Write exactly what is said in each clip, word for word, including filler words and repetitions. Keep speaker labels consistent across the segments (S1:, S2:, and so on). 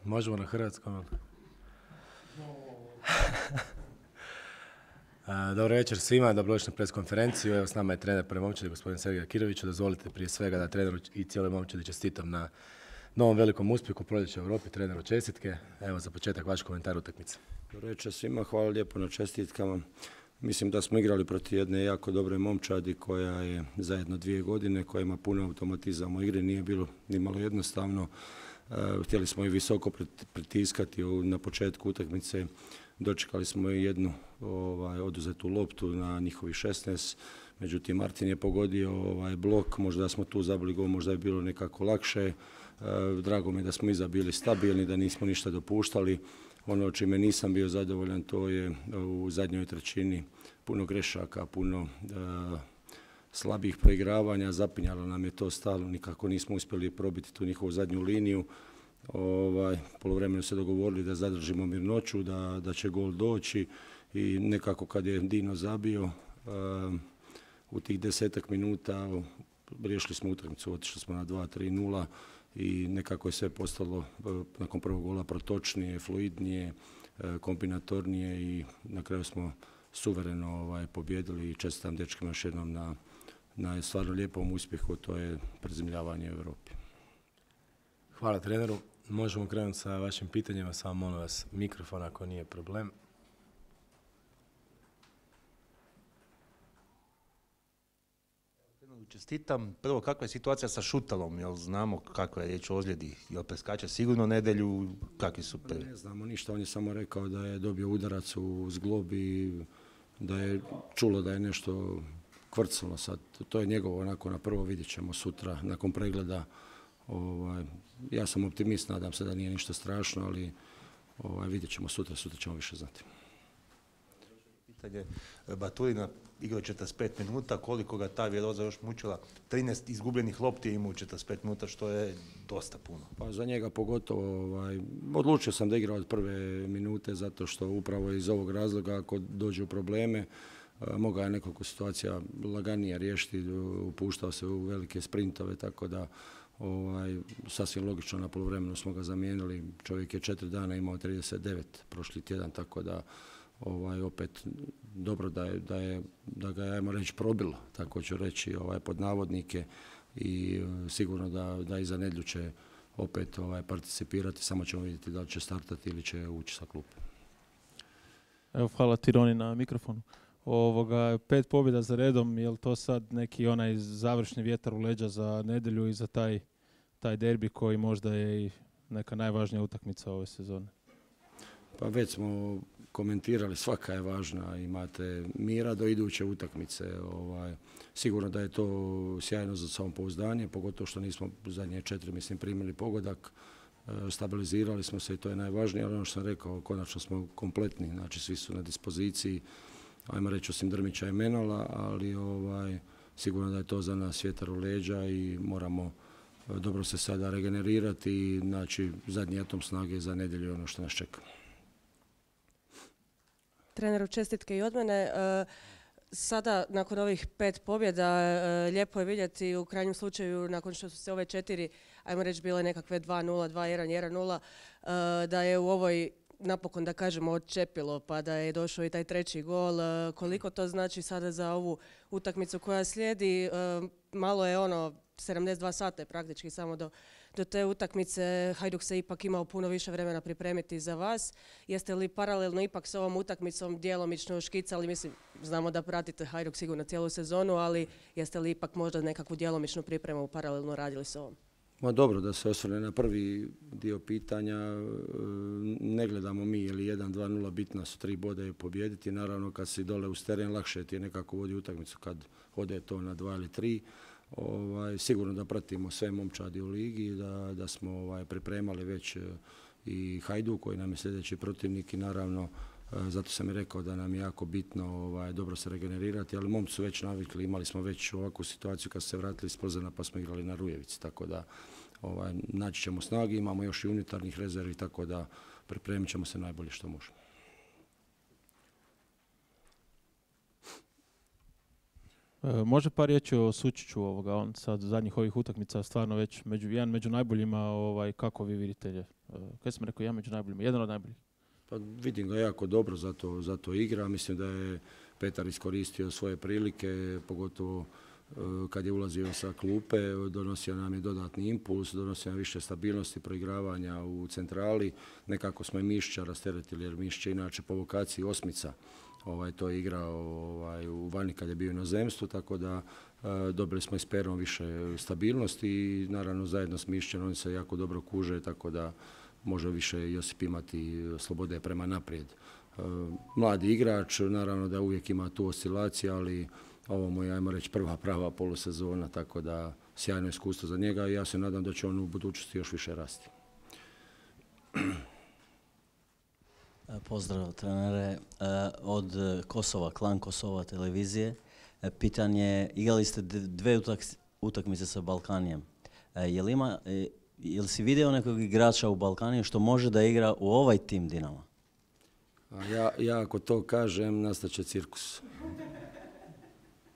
S1: Možemo na hrvatskom. Dobro večer svima, dobrodošli na preskonferenciju. Evo s nama je trener prve momčadi, gospodin Sergej Akirović. Dozvolite prije svega da treneru i cijeloj momčadi čestitam na novom velikom uspjehu proljeća u Europi, treneru čestitke. Evo za početak vaš komentar utakmice.
S2: Dobro večer svima, hvala lijepo na čestitkama. Mislim da smo igrali protiv jedne jako dobre momčadi koja je zajedno dvije godine, koja ima puno automatizama u igri, nije bilo ni malo jednostavno. Htjeli smo i visoko pritiskati na početku utakmice, dočekali smo i jednu ovaj, oduzetu loptu na njihovi šesnaest, međutim Martin je pogodio ovaj, blok, možda smo tu zabili gol, možda je bilo nekako lakše. Drago mi je da smo iza bili stabilni, da nismo ništa dopuštali. Ono čime nisam bio zadovoljan to je u zadnjoj trećini puno grešaka, puno uh, slabih proigravanja, zapinjalo nam je to stalno, nikako nismo uspjeli probiti tu njihovu zadnju liniju. Ovaj, poluvremenu se dogovorili da zadržimo mirnoću, da, da će gol doći i nekako kad je Dino zabio, uh, u tih desetak minuta riješili smo utakmicu, otišli smo na dva tri nula i nekako je sve postalo nakon prvog gola protočnije, fluidnije, kombinatornije i na kraju smo suvereno ovaj, pobjedili i čestitam dečkima još jednom na, na stvarno lijepom uspjehu, to je prezimljavanje u Europi.
S1: Hvala treneru. Možemo krenuti sa vašim pitanjima, samo molim vas mikrofon ako nije problem.
S3: Čestitam. Prvo, kakva je situacija sa Šutalom? Jel znamo kakva je riječ o ozljedi? Jel preskače sigurno nedjelju? Kakvi su prvi?
S2: Ne znamo ništa, on je samo rekao da je dobio udarac u zglob i da je čulo da je nešto kvrcalo sad. To je njegovo onako na prvo, vidjet ćemo sutra nakon pregleda. Ovaj, ja sam optimist, nadam se da nije ništa strašno, ali ovaj, vidjet ćemo sutra, sutra ćemo više znati.
S3: Pitanje Baturina, igrao četrdeset pet minuta, koliko ga ta viroza još mučila, trinaest izgubljenih lopti je imao u četrdeset pet minuta, što je dosta puno.
S2: Pa za njega pogotovo, ovaj, odlučio sam da igra od prve minute, zato što upravo iz ovog razloga, ako dođu probleme, mogao je nekoliko situacija laganije riješiti, upuštao se u velike sprintove, tako da ovaj, sasvim logično na poluvremenu smo ga zamijenili. Čovjek je četiri dana imao trideset devet prošli tjedan, tako da ovaj, opet dobro da, je, da, je, da ga je, ajmo reći, probilo, tako ću reći, ovaj, pod navodnike i uh, sigurno da, da i za nedjelju će opet ovaj, participirati, samo ćemo vidjeti da li će startati ili će ući sa klupe.
S4: Evo, hvala Tironi na mikrofonu. Ovoga, pet pobjeda za redom, je li to sad neki onaj završni vjetar u leđa za nedjelju i za taj, taj derbi koji možda je i neka najvažnija utakmica ove sezone?
S2: Pa već smo komentirali, svaka je važna, imate mira do iduće utakmice. Ovaj, sigurno da je to sjajno za samopouzdanje, pogotovo što nismo zadnje četiri, mislim, primili pogodak, stabilizirali smo se i to je najvažnije, ali ono što sam rekao, konačno smo kompletni, znači svi su na dispoziciji, ajmo reći osim Drmića i Menola, ali ovaj, sigurno da je to za nas vjetar u leđa i moramo dobro se sada regenerirati i znači zadnji atom snage za nedjelju ono što nas čeka.
S5: Treneru, čestitke i od mene. Sada, nakon ovih pet pobjeda, lijepo je vidjeti u krajnjem slučaju, nakon što su se ove četiri, ajmo reći, bile nekakve dva nula, dva jedan, jedan nula, da je u ovoj napokon, da kažemo, odčepilo, pa da je došao i taj treći gol. Koliko to znači sada za ovu utakmicu koja slijedi? Malo je ono, sedamdeset dva sata je praktički samo do, do te utakmice. Hajduk se ipak imao puno više vremena pripremiti za vas. Jeste li paralelno ipak s ovom utakmicom djelomično škicali? Mislim, znamo da pratite Hajduk sigurno cijelu sezonu, ali jeste li ipak možda nekakvu djelomičnu pripremu paralelno radili s ovom?
S2: Ma dobro, da se osvrne na prvi dio pitanja, ne gledamo mi je li jedan dva nula, bitna su tri boda i pobijediti. Naravno kad si dole uz teren lakše ti je nekako vodi utakmicu kad ode to na dva ili tri. Ovaj, sigurno da pratimo sve momčadi u ligi, da, da smo ovaj, pripremali već i Hajduk koji nam je sljedeći protivnik i naravno zato sam i rekao da nam je jako bitno ovaj, dobro se regenerirati, ali momci su već navikli, imali smo već ovakvu situaciju kad su se vratili iz Plzena pa smo igrali na Rujevici, tako da ovaj, naći ćemo snagi, imamo još i unutarnjih rezervi, tako da pripremit ćemo se najbolje što možemo.
S4: E, može par riječi o Sučiću, ovoga, on sad zadnjih ovih utakmica stvarno već među, jedan među najboljima, ovaj, kako vi vidite je? E, kaj sam rekao, jedan među najboljima, jedan od najboljih?
S2: Pa vidim ga jako dobro, zato, zato igra. Mislim da je Petar iskoristio svoje prilike, pogotovo kad je ulazio sa klupe, donosio nam je dodatni impuls, donosio nam više stabilnosti proigravanja u centrali. Nekako smo i Mišića rasteretili, jer Mišić je inače po vokaciji osmica. Ovaj, to je igrao ovaj, u vani kad je bio u inozemstvu, tako da e, dobili smo i s Perom više stabilnosti i naravno zajedno s Mišićem oni se jako dobro kuže, tako da može više Josip imati slobode prema naprijed. E, mladi igrač, naravno da uvijek ima tu oscilaciju, ali ovo mu je, ajmo reći, prva prava polusezona, tako da sjajno iskustvo za njega i ja se nadam da će on u budućnosti još više rasti.
S6: Pozdrav trenere. Od Kosova, Klan Kosova televizije. Pitanje, igrali ste dve utakmice sa Balkanijem. Je li, ima, je li si vidio nekog igrača u Balkaniju što može da igra u ovaj tim Dinama?
S2: Ja, ja ako to kažem, nastaće cirkus.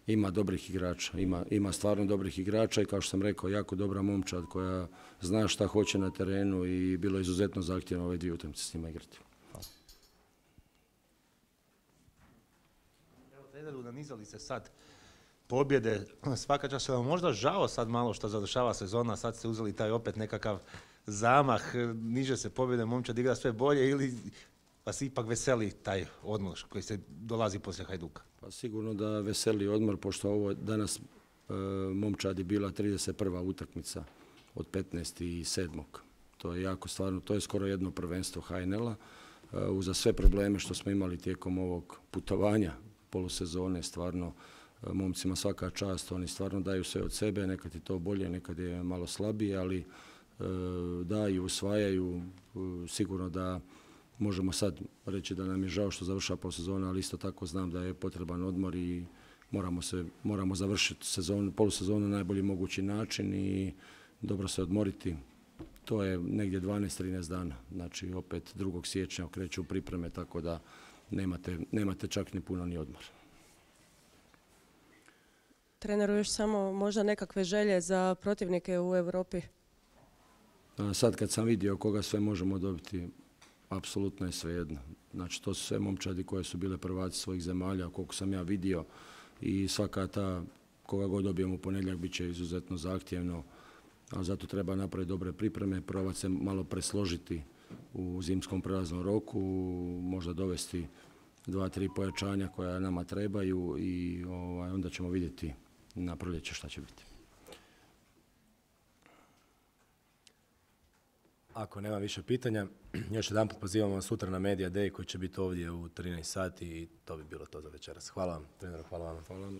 S2: Ima dobrih igrača, ima, ima stvarno dobrih igrača i kao što sam rekao, jako dobra momčad koja zna šta hoće na terenu i bilo je izuzetno zahtjevno ove dvije utakmice s njima igrati.
S3: Evo, treneru, nanizali se sad pobjede, svaka čast, vam možda žao sad malo što završava sezona, sad ste uzeli taj opet nekakav zamah, niže se pobjede, momčad igra sve bolje ili vas ipak veseli taj odmor koji se dolazi poslije Hajduka?
S2: Pa sigurno da veseli odmor, pošto ovo danas e, momčad je bila trideset prva utakmica od petnaest sedam To je jako stvarno, to je skoro jedno prvenstvo H N L-a. E, uza sve probleme što smo imali tijekom ovog putovanja polusezone, stvarno e, momcima svaka čast, oni stvarno daju sve od sebe, nekad je to bolje, nekad je malo slabije, ali e, daju, usvajaju, e, sigurno da možemo sad reći da nam je žao što završava polusezona, ali isto tako znam da je potreban odmor i moramo, se, moramo završiti sezonu, polusezonu na najbolji mogući način i dobro se odmoriti. To je negdje dvanaest trinaest dana, znači opet drugog siječnja kreću pripreme, tako da nemate, nemate čak ni puno ni odmor.
S5: Treneru, još samo možda nekakve želje za protivnike u Europi?
S2: Sad kad sam vidio koga sve možemo dobiti, apsolutno je svejedno. Znači, to su sve momčadi koje su bile prvaci svojih zemalja, koliko sam ja vidio i svaka ta, koga god dobijemo u ponedjeljak, bit će izuzetno zahtjevno, a zato treba napraviti dobre pripreme, probati se malo presložiti u zimskom prelaznom roku, možda dovesti dva, tri pojačanja koja nama trebaju i ovaj, onda ćemo vidjeti na proljeće šta će biti.
S1: Ako nema više pitanja, još jedan put pozivamo vas sutra na Media Day koji će biti ovdje u trinaest sati i to bi bilo to za večeras. Hvala vam, treneru, hvala vam.
S2: Hvala vam.